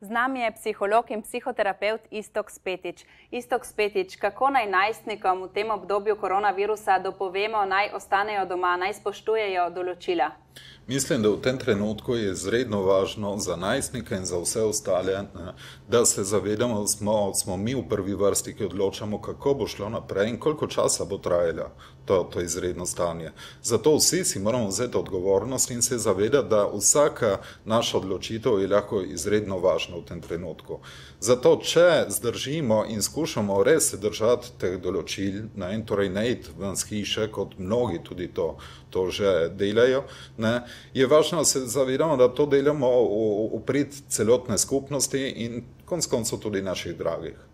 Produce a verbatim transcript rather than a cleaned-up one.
Z nami je psiholog in psihoterapevt Iztok Spetič. Iztok Spetič, kako naj najstnikom v tem obdobju koronavirusa dopovemo, naj ostanejo doma, naj spoštujejo določila? Mislim, da v tem trenutku je izredno važno za najstnike in za vse ostale, da se zavedamo, da smo, smo mi v prvi vrsti, ki odločamo, kako bo šlo naprej in koliko časa bo trajalo to, to izredno stanje. Zato vsi si moramo vzeti odgovornost in se zavedati, da vsaka naša odločitev je lahko izredno važna v tem trenutku. Zato, če zdržimo in skušamo res se držati teh določil, ne, in torej ne iti ven z hiše, kot mnogi tudi to, to že delajo, ne, je važno, da se zavedamo, da to delamo v, v prid celotne skupnosti in konec koncev tudi naših dragih.